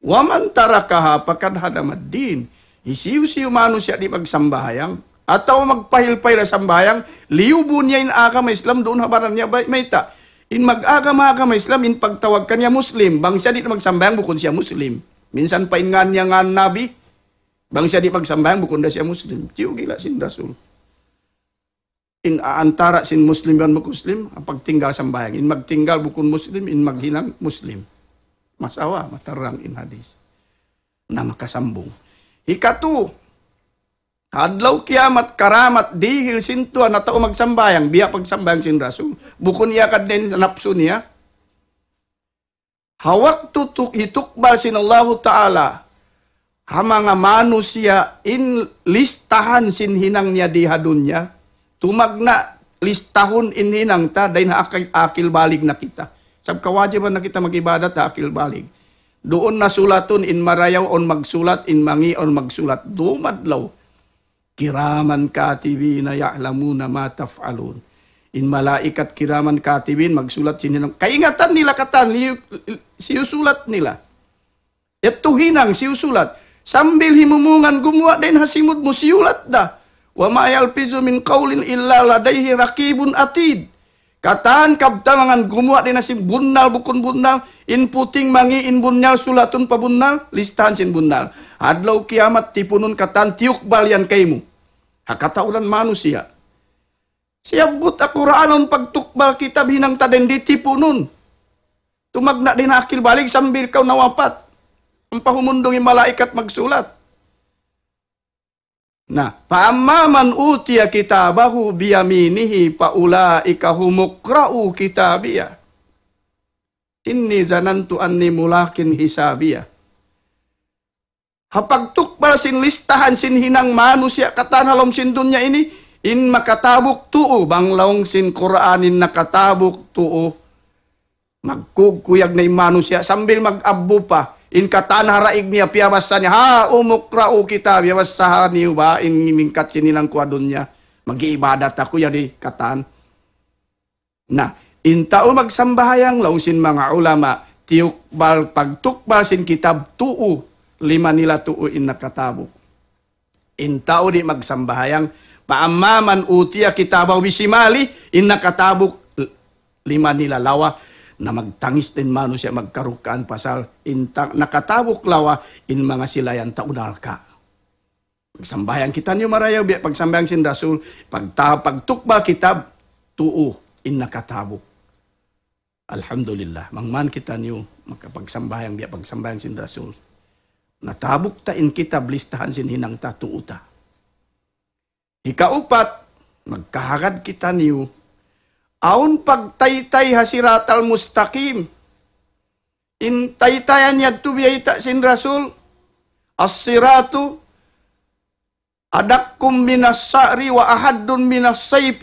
ومن تركها فقد هدم الدين. Hisiyu-siyu manusiya' di' magsambahayang, atawa magpahil-pahil ha sambahayang, liyubu niya in agama Islam duun ha baran niya, bay-, mayta'. In mag-agama-agama Islam, in pagtawag kaniya Muslim, bang siya di' magsambahayang, bukun siya Muslim. Minsan pa in ngan niya ngan Nabi, bang siya di' magsambahayang, bukun da siya Muslim. Tiyugila sin Rasul. In antara' sin Muslim iban bukun Muslim, pagtinggal sambahayang. In magtinggal bukun Muslim, in maghinang Muslim. Masawa, matarang in hadis. Na makasambung. Hikatu, adlaw kiyamat, karamat, dihil sin Tuhan, na tau magsambahayang, biya' pagsambahayang sin Rasul. Bukun iyagad niya in napsu niya. Ha waktu tu-, hitukbal sin Allahu Ta'ala, ha manga manusiya' in listahan sin hinang niya di ha dunya, tumagna' listahun in hinang ta, dayn ha akil, akil balig na kita. Sab kawajiban na kita mag-ibadat ha akil balig. Duun na sulatun in marayaw awn magsulat, in mangi' awn magsulat. Dumadlaw. كراما كاتبين يعلمون ما تفعلون. In malaikat kiraman katibin magsulat sin hinang. Kaingatan nila katan, liyu-, siyusulat nila. Yadtu hinang, siyusulat. Sambil himumungan gumuwa' dayn ha simud mu, siyulat da. وما يلفظ من قول إلا لديه رقيب عتيد. Katan kabtangan gumuwa' dayn ha sin bunnal bukun bunnal, in puting mangi' in bunnal sulatun pa bunnal, listahan sin bunnal. Adlaw kiyamat tipunun katan tiyukbal yan kaymu. Ha katauran manusiya'. Siyabbut ha Qur'an awn pagtukbal kitab hinang ta dayn di tipunun. Tumagna' dayn ha akil balig sambil kaw nawapat. Ampa humundung in malaikat magsulat. Na, فأما من أوتي كتابه بيمينه فأولئك هم مقرؤو كتابيه إني ظننت أني ملاق حسابيه. Ha pagtukbal sin listahan sin hinang manusiya' katan ha lawm sin dunya ini, in makatabuk tuu, bang laung sin Qur'an in nakatabuk tuu. Magkugkuyag na in manusiya' sambil mag-abbu pa. In katan ha daig niya piyabassa niya, هاؤم اقرءوا كتابيه, bassaha niyu ba in mingkat sin hinang ku ha dunya. Mag-iibadat aku, yari katan. Na, in tau magsambahayang, laung sin manga ulama, tiyukbal, pagtukbal sin kitab tuu, lima nila tuu in nakatabuk. In tau di' magsambahayang, فأما من أوتي كتابه بشماله, in nakatabuk, lima nila lawa, na magtangis da in manusiya' magkarukaan pasal, in ta-, nakatabuk lawa, in manga sila yan tau narka'. Magsambahayang kitaniyu marayaw, biya' pagsambahayang sin Rasul, pagta-, pagtukbal kitab, tuu, in nakatabuk. Alhamdulillah, mangman kitaniyu makapagsambahayang biya' pagsambahayang sin Rasul. Natabuk ta in kitab, listahan sin hinang ta, tuu ta. Hikaupat, magkahagad kitaniyu, awn pagtaytay ha Siratal Mustaqim. In taytayan yadtu biyayta' sin Rasul, الصراط أدق من الشعر وأحد من السيف.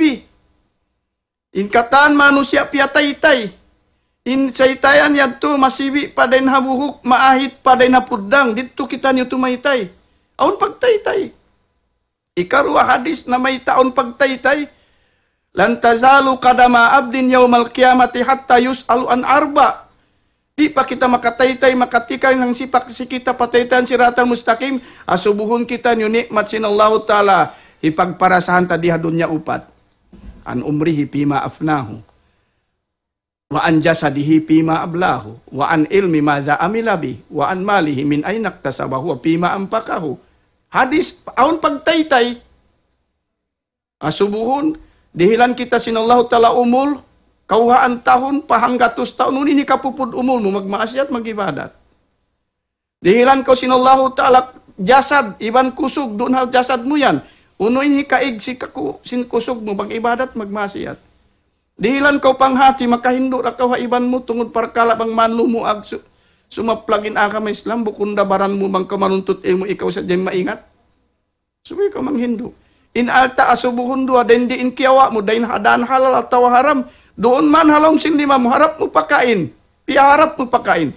In katan manusiya' piyataytay. In taytayan yadtu masibi' pa dayn ha buhuk, maahit pa dayn ha puddang. Didtu kitaniyu tumaytay. Awn pagtaytay. Hikaruwa hadis namayta' awn pagtaytay. لن تزول قدما عبد يوم القيامة حتى يسأل عن أربع. Di' pa kita makataytay, makatikang in sipak sin kita pa taytayan Siratal Mustaqim, asubuhun kitaniyu ni'mat sin Allahu Ta'ala, hipagparasahan ta di ha dunya upat. عن عمره فيما أفناه، وعن جسده فيما أبلاه، وعن علمه ماذا عمل به، وعن ماله من أين اكتسبه، وفيما أنفقه. Hadis, awn pagtaytay. Asubuhun, dihilan kita sin Allahu Ta'ala umul, kawhaan tahun, pa hanggatus tahun, unu in hikapupud umul mu, magmaasiyat, mag-ibadat. Dihilan kaw sin Allahu Ta'ala jasad, iban kusug, duun ha jasad mu yan. Unu in hikaig sin kaku-, sin kusug mu, mag-ibadat, magmaasiyat. Dihilan kaw panghati, makahindu' da kaw ha iban mu, tungud parkala' bang man lumuag su-, sumaplag in agama Islam, bukun da baran mu, bang kaw manuntut ilmu', ikaw sadja in maingat. Subay kaw manghindu'. In alta' asubuhun duwa, dayn di in kiyawa' mu, dayn ha dān halal atawa haram. Duun man ha lawm sin lima mu, harap mu pakain. Piyaharap mu pakain.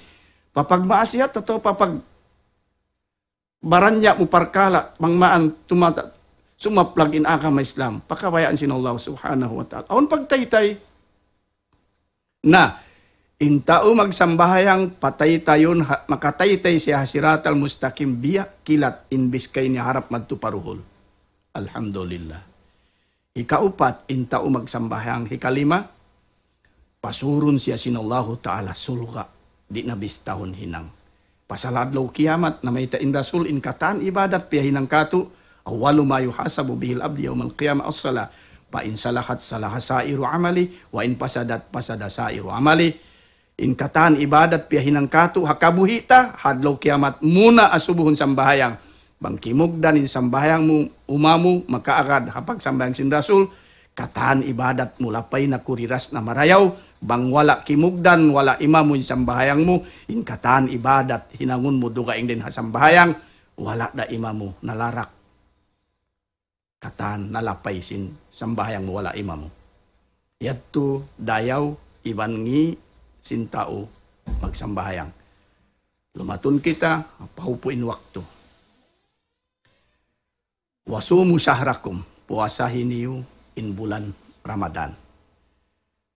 Papagmaasiyat atawa papagbaranya' mu parkala', bang maan tumata-, Sumaplag in agama Islam, pakabayaan sin Allah Subhanahu wa Ta'ala. Awn pagtaytay. Na, in tau magsambahayang pataytayun, ha- makataytay siya ha siratal mustaqim, biya' kilat in biskay niya harap madtu pa duhul. Alhamdulillah. Hikaupat, in tau magsambahayang. Hikalima, pasurun siya sin Allahu Ta'ala surga', di' na bistahun hinang. Pasal adlaw kiyamat, namayta' in Rasul, in katan ibadat piyahinang katu', أول ما يحاسب به العبد يوم القيامة الصلاة، فإن صلحت صلح سائر عمله، وإن فسدت فسد سائر عمله. In katan ibadat piyahinang katu', ha kabuhi' ta, ha adlaw kiyamat, muna asubuhun sambahayang. Bang kimugdan in sambahayang mu, uma mu, makaagad ha pagsambahayang sin Rasul, katan ibadat mu lapay na kuriras na marayaw, bang wala' kimugdan, wala' imamu in sambahayang mu, in katan ibadat, hinangun mu dugaing dayn ha sambahayang, wala' da imamu, nalarak. Katan nalapay sin sambahayang mu wala' imamu. Yadtu dayaw iban ngi' sin tau magsambahayang. Lumatun kita, pahupu' in waktu. وصوموا شهركم, puasahi niyu in bulan Ramadan.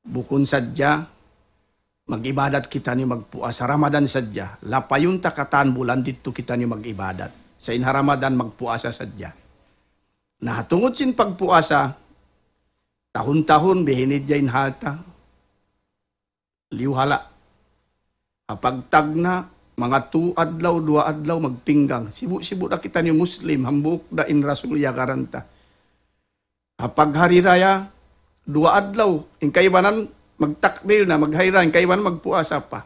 Bukun sadja mag-ibadat kitaniyu magpuasa Ramadan sadja. Lapayun ta katan bulan didtu kitaniyu mag-ibadat. Sa' in ha Ramadan magpuasa sadja. Na ha tungud sin pagpuasa, tahun-tahun bihinidja in halta. Liyu hala'. Ha pagtagna', manga tu adlaw, duwa adlaw, magpinggang. Sibu'-sibu' da kitaniyu Muslim, hambuuk da in Rasul iyagaran ta. Ha paghari raya, duwa adlaw, in kaibanan magtakbil na, maghari raya, in kaibanan magpuasa pa.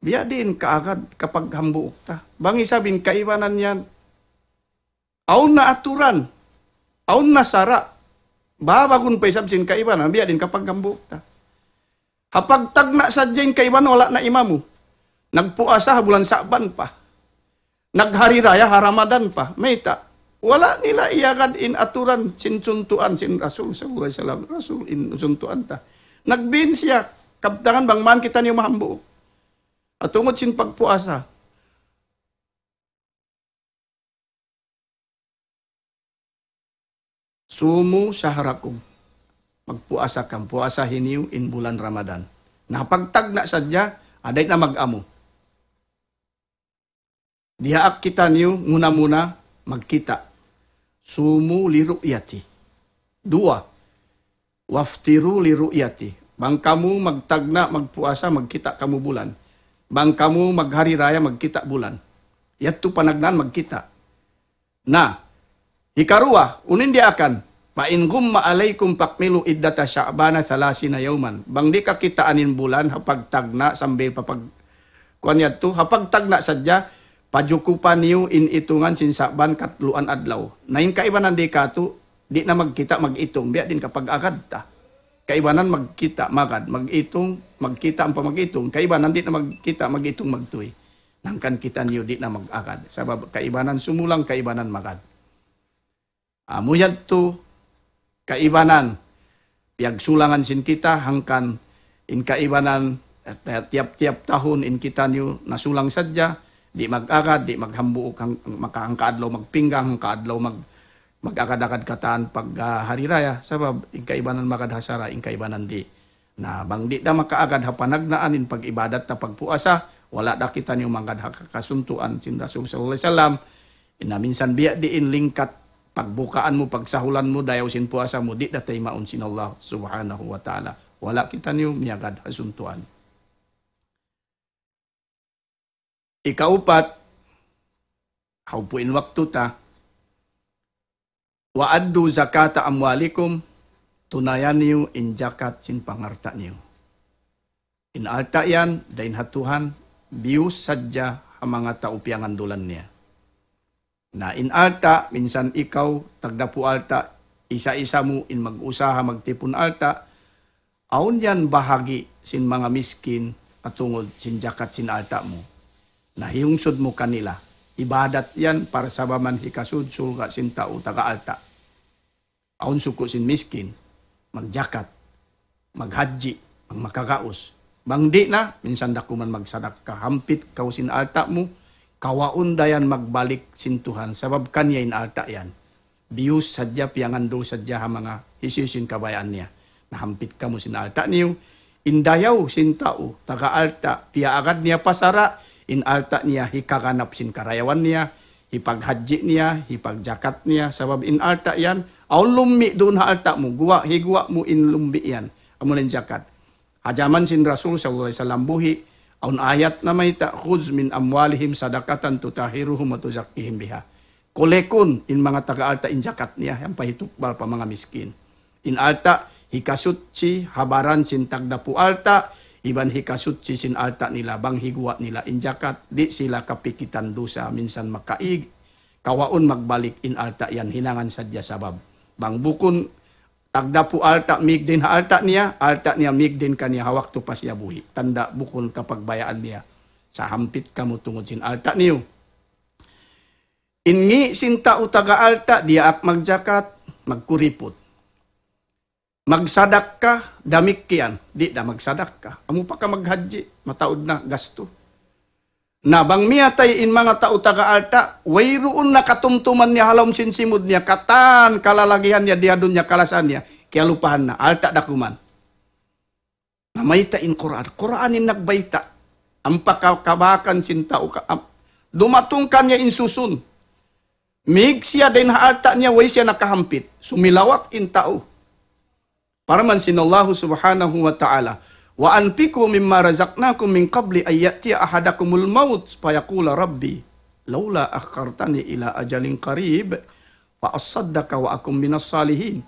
Biya' diin kaagad kapaghambuuk ta. Bang isab in kaibanan yan, awn na aturan, awn na sara', babagun pa isab sin kaibanan, biya' diin kapaghambuuk ta. Ha pagtagna' sadja in kaibanan wala' na imamu. Nagpuasa ha bulan Sa'ban pa. Naghari raya ha Ramadan pa. Mayta'? Wala' nila iyagad in aturan sin suntuan sin Rasul sallallahu alayhi wasallam. Rasul in suntuan ta. Nagbin siya, kabtangan bang man kitaniyu mahambuuk. Ha tungud sin pagpuasa. صوموا شهركم. Magpuasa kamu, puasahi niyu in bulan Ramadan. Na pagtagna' sadja, aday na mag-amu. Diyaak kitaniyu muna-muna magkita'. صوموا لرؤيته. Duwa, وأفطروا لرؤيته. Bang kamu magtagna', magpuasa, magkita' kamu bulan. Bang kamu maghari raya, magkita' bulan. Yadtu panagnaan magkita'. Na, hikaruwa, unu in diyaakan, فإن غم عليكم فأكملوا عدة شعبان ثلاثين يوما. Bang di' kakitaan in bulan, ha pagtagna' sambil pa pag-, kuwan yadtu, ha pagtagna' sadja, pajukupan niyu in itungan sin Sa'ban katluan adlaw. Na in kaibanan di' katu', di' na magkita' mag-itung, biya' diin kapag-agad ta. Kaibanan magkita', magad, mag-itung, magkita' ampa mag-itung. Kaibanan di' na magkita', mag-itung, magtuy. Hangkan kitaniyu di' na mag-agad. Sabab kaibanan sumulang, kaibanan magad. Amu yadtu, kaibanan. Piyagsulangan sin kita, hangkan in kaibanan, eh, tiyap-tiyap tahun in kitaniyu nasulang sadja, di' mag-agad, di' maghambuuk, hang-, maka-, hangka adlaw magpinggang, hangka adlaw mag-, mag-agad-agad katan pag, ah, hari raya. Sabab, in kaibanan magad ha sara', in kaibanan di'. Na, bang di' da makaagad ha panagnaan in pag-ibadat ta pagpuasa, wala' da kitaniyu mangagad ha kasuntuan sin Rasul sallallahu alayhi wasallam. Na minsan biya' diin lingkat pagbukaan mu, pagsahulan mu, dayaw sin puasa mu, di' da taymaun sin Allah subhanahu wa ta'ala. Wala' kitaniyu miyagad ha suntuan. Ikaupat, hawpu' in waktu ta, وأدوا زكاة أموالكم, tunayan niyu in jakat sin pangalta' niyu. In alta' yan, dayn ha Tuhan, biyus sadja ha manga tau piyangandulan niya. Na in alta', minsan ikaw, tagdapu' alta', isa-isa mu in mag-usaha, magtipun alta', awn yan bahagi' sin manga miskin, atungud sin jakat sin alta' mu. Na hiyungsud mu kanila, ibadat yan, parsababan hikasud surga' sin tau taga alta'. Awn suku' sin miskin, magjakat, maghajji, bang makagaus. Bang di' na, minsan da kuman magsadakka, hampit kaw sin alta' mu, kawaun da yan magbalik sin Tuhan, sabab kaniya in alta' yan. biyus sadja, piyangandu sadja ha manga hisiyu-siyu in kabayaan niya. Nahampit kamu sin alta' niyu, in dayaw sin tau taga alta', piyaagad niya pa sara', in alta' niya hikaganap sin karayawan niya, hipaghajji niya, hipagjakat niya, sabab in alta' yan, awn lumbi' duun ha alta' mu, guwa', higuwa' mu in lumbi' yan, amu na in jakat. Ha jaman sin Rasul sallallahu alayhi wasallam buhi', awn ayat namayta', "Khudh min amwalihim sadaqatan tutahhiruhum wa tuzakkihim biha." Kulekun in manga taga alta' in jakat niya, ampa hitukbal pa manga miskin. In alta', hikasuchi ha baran sin tagdapu alta', iban hikasuchi sin alta' nila, bang higuwa' nila in jakat, di' sila kapikitan dusa, minsan makaig, kawaun magbalik in alta' yan hinangan sadja sabab. Bang bukun tagdapu alta' mīg dayn ha alta' niya, alta' niya mīg dayn kaniya ha waktu pa siya buhi'. Tanda' bukun kapagbayaan niya. Sahampit kamu tungud sin alta' niyu. In ngi' sin tau taga alta', diyaak magjakat, magkuriput. Magsadakka, damikkiyan, di' da magsadakka. Amu pa ka maghajji, mataud na gastu. Na bang miyatay in manga tau taga alta', wayruun na katumtuman niya ha lawm sin simud niya, katan kalalagihan niya, diyadun niya, kalasahan niya, kiyalupahan na, alta' da kuman. Namayta' in Qur'an. Qur'an in nagbayta'. Ampa ka-, kabakan sin tau ka, am-, dumatung kaniya in susun. Mīg siya dayn ha alta' niya, way siya nakahampit. Sumilawak in tau. Parman sin Allahu subhanahu wa ta'ala, "Wa anfiqu mimma razaqnakum min qabli an ya'tiya ahadakumul maut fayaqula rabbi laula akhartani ila ajalin qarib fa asaddaqa wa akum minas salihin."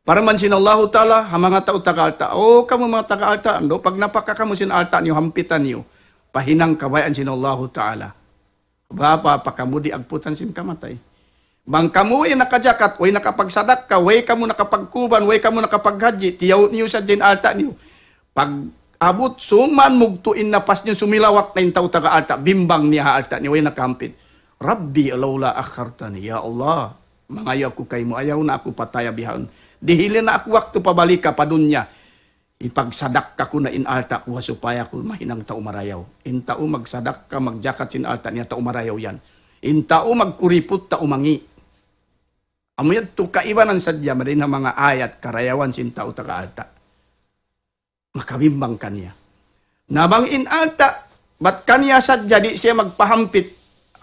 Parman sin Allahu ta'ala, ha manga tau taga alta', "O kamu manga taga alta', andu' pagnapaka kamu sin alta' niyu, hampitan niyu, pa hinang kabayaan sin Allahu ta'ala." Bapa pa kamu di' agputan sin kamatay. Bang kamu way nakajakat, way nakapagsadakka, way kamu nakapagkuban, way kamu nakapaghajji, tiyaw niyu sadja in alta' niyu. Pag-abut suman mugtu' in napas niyu, sumilawak na in tau taga alta', bimbang niya ha alta' niya, way nakahampit. Rabbi laula akhartani, ya Allah, mangayu' aku kaymu, ayaw na aku pataya bihaun. Dihili na aku waktu pabalika pa dunya. Ipagsadakka ku na in alta' ku ha supaya aku mahinang tau marayaw. In tau magsadakka, magjakat sin alta' niya, tau marayaw yan. In tau magkuriput, tau mangi'. Amu yadtu kaibanan sadja mari na manga ayat karayawan sin tau taga alta'. Makabimbang kaniya. Na bang in alta', bat kaniya sadja di' siya magpahampit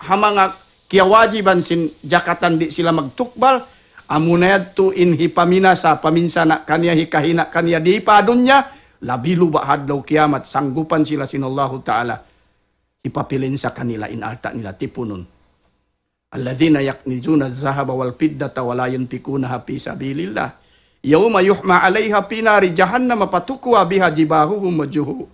ha manga kiyawajiban sin jakatan di' sila magtukbal, amuna yadtu in hipaminasa, paminsana' kaniya, hikahina' kaniya di pa dunya, labi luba' ha adlaw kiyamat, sanggupan sila sin Allahu ta'ala, hipapilinsa kanila in alta' nila tipunun. الذين يكنزون الذهب والفضة ولا ينفقونها في سبيل الله يوم يحمى عليها في نار جهنم فتكوى بها جباههم وجهو-،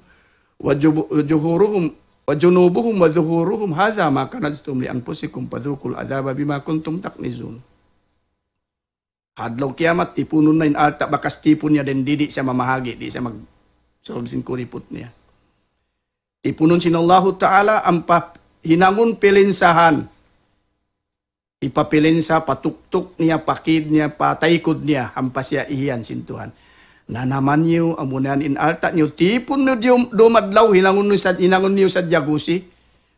وجب-، وجهورهم، وجنوبهم وظهورهم هذا ما كنزتم لأنفسكم فذوقوا العذاب بما كنتم تكنزون. Ha adlaw kiyamat, tipunun na in alta' bakas tipun niya dayn di, di' siya mamahagi', di' siya mag-, sabab sin kuriput niya. Tipunun sin Allahu ta'ala ampa hinangun pilinsahan. Hipapilinsa pa tuktuk niya, pa kid niya, pa taykud niya, ampa siya ihiyan sin Tuhan. Nanaman niyu, amuna yan in alta' niyu, tipun niyu diyum-, dumadlaw, hinangun niyu sad-, hinangun niyu sadja gusi.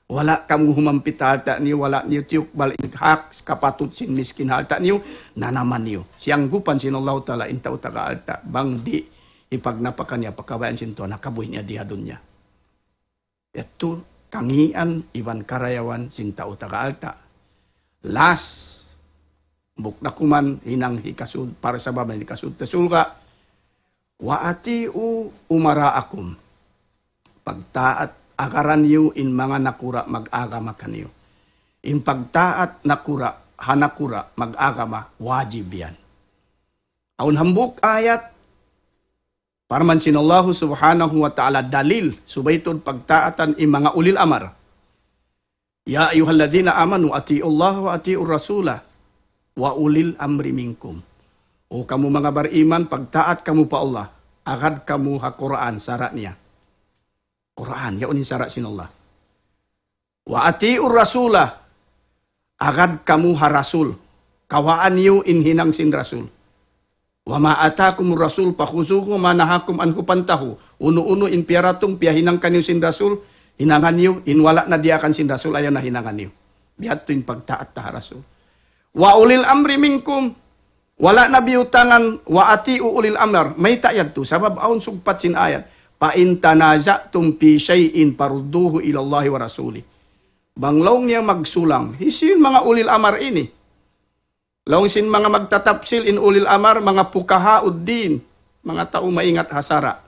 Wala' kamu humampit ha alta' niyu, wala' niyu tiyukbal in hak kapatut sin miskin ha alta' niyu, nanaman niyu. Siyanggupan sin Allahu ta'ala in tau taga alta', bang di' hipagnapaka niya pa kabayaan sin Tuhan, ha kabuhi' niya di ha dunya. Yadtu kangian iban karayawan sin tau taga alta'. Last, bukun da kuman hinang hikasud, parsababan hikasud ta surga'. وأطيعوا أمراءكم. Pagtaat, agaran niyu in manga nakura' mag-agama kaniyu. In pagtaat nakura', ha nakura' mag-agama, wajib yan. Awn hambuuk ayat, parman sin Allahu subhanahu wa ta'ala dalil, subay tuud pagtaatan in manga ulil amar. يا أيها الذين آمنوا أطيعوا الله وأطيعوا الرسول وأولي الأمر منكم. O kamu manga bariman, pagtaat kamu pa Allah, agad kamu ha Qur'an, sara' niya. Qur'an, yaun in sara' sin Allah. وأطيعوا الرسول, agad kamu ha Rasul. Kawaan niyu in hinang sin Rasul. وما آتاكم الرسول فخذوه وما نهاكم عنه فانتهوا. Unu-unu in piyaratung, piyahinang kaniyu sin Rasul, hinangan niyu, in wala' na diyaakan sin Rasul, ayaw na hinangan niyu. Biya' ha yadtu in pagtaat ta ha Rasul. وأولي الأمر منكم. Wala' na biyutangan, وأطيعوا أولي الأمر. Mayta' yadtu, sabab awn sugpat sin ayat. فإن تنازعتم في شيء فردوه إلى الله ورسوله. Bang laung niya magsulang, hisiyu in manga ulil amar ini? Laung sin manga magtatapsil in ulil amar, manga fuqaha'ud din, manga tau maingat ha sara'.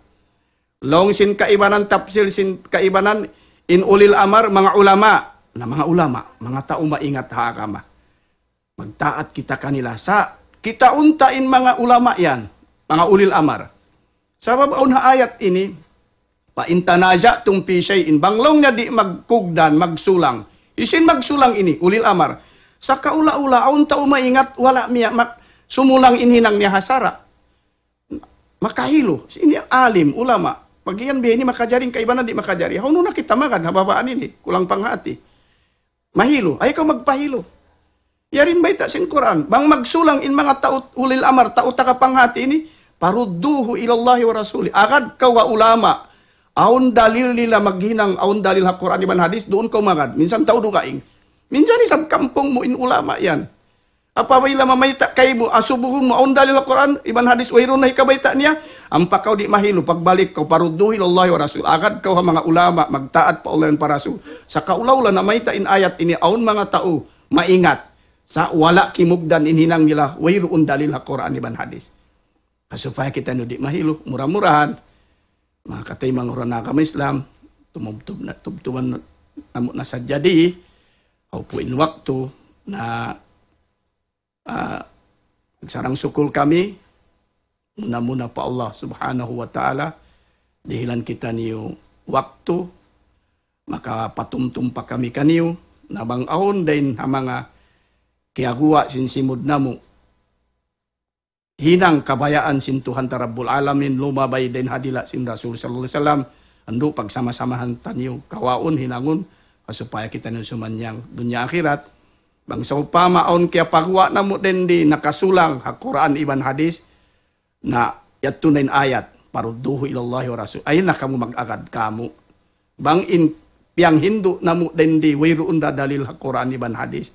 Laung sin kaibanan tapsil sin kaibanan in ulil amar, manga ulama. Na manga ulama, manga tau maingat ha agama. Magtaat kita kanila. Sa' kitaun ta in manga ulama yan, manga ulil amar. Sabab awn ha ayat ini, فإن تنازعتم في شيء, bang laung niya di' magkugdan, magsulang. Hisiyu in magsulang ini, ulil amar. Sa' kaula-ula, awn tau maingat, wala' niya mak-, sumulang in hinang niya ha sara'. Makahilu. Ini alim, ulama. Pag iyan biya' ini makajari, in kaibanan di' makajari. Hawnu na kita magad, ha babaan ini. Kulang panghati. Mahilu. Ayaw kaw magpahilu. Yari in bayta' sin Qur'an. Bang magsulang in manga tau ulil amar, tau taga panghati ini, فردوه إلى الله ورسوله. Agad kaw ha ulama. Awn dalil nila maghinang, awn dalil ha Qur'an iban hadis, duun kaw magad. Minsan tau dugaing. Minsan isab kampung mu in ulama yan. Apabila mamayta' kaymu, asubuhun mu, awn dalil ha Qur'an iban hadis, wayruun na hikabayta' niya, ampa kaw di' mahilu, pagbalik kaw, فردوه إلى الله ورسوله. Agad kaw ha manga ulama, magtaat pa Allah iban pa Rasul. Sa' kaula-ula namayta' in ayat ini, awn manga tau maingat. Sa' wala' kimugdan in hinang nila, wayruun dalil ha Qur'an iban hadis. Supaya kitaniyu di' mahilu, mura-murahan. Manga kataymanghuran ha agama Islam, tumubtub na, tubtuban namu' na sadja di, hawpu' in waktu, na, ah, nagsarang-sukul kami, muna-muna pa Allah Subhanahu wa Ta'ala, dihilan kitaniyu waktu, makapatumtum pa kami kaniyu, na bang awn dayn ha manga kiyaguwa' sin simud namu', hinang kabayaan sin Tuhan ta Rabbul Alamin, lumabay dayn ha dila' sin Rasul sallallahu alayhi wasallam, andu' pagsama-samahan taniyu, kawaun, hinangun, supaya kitaniyu sumannang dunya akhirat. Bang sawpama awn kiyapaguwa' namu' dayn di nakasulang ha Qur'an iban hadis, na yadtu na in ayat, فردوه إلى الله ورسوله. Ayaw na kamu mag-agad kamu. Bang in piyanghindu' namu' dayn di wayruun da dalil ha Qur'an iban hadis,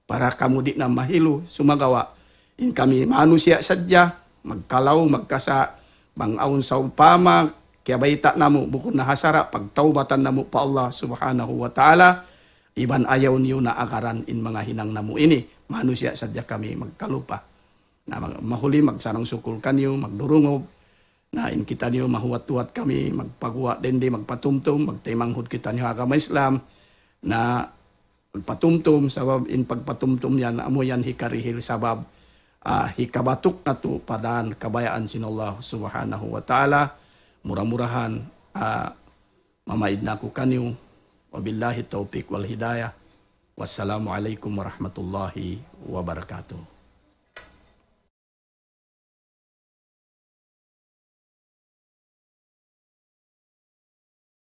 para kamu di' na mahilu, sumagawa' in kami manusiya' sadja, magkalaw, magkasa', bang awn sawpama kiyabayta' namu', bukun na ha sara', pagtawbatan namu' pa Allah Subhanahu wa Ta'ala, iban ayaw niyu na agaran in manga hinang namu' ini, manusiya' sadja kami, magkalupa. Na, mag-, mahuli, magsarang-sukul kaniyu, magdurungug. Na, in kitaniyu, mahuwat-huwat kami, magpaguwa' dayn di, magpatumtum, magtaymanghud kitaniyu ha agama Islam. Na, magpatumtum, sabab in pagpatumtum yan, amu yan hikarihil sabab, ah, hikabatuk natu' pa dān kabayaan sin Allah Subhanahu wa Ta'ala. Mura-murahan, ah, mamaid na aku kaniyu. وبالله التوفيق والهداية. والسلام عليكم ورحمة الله وبركاته.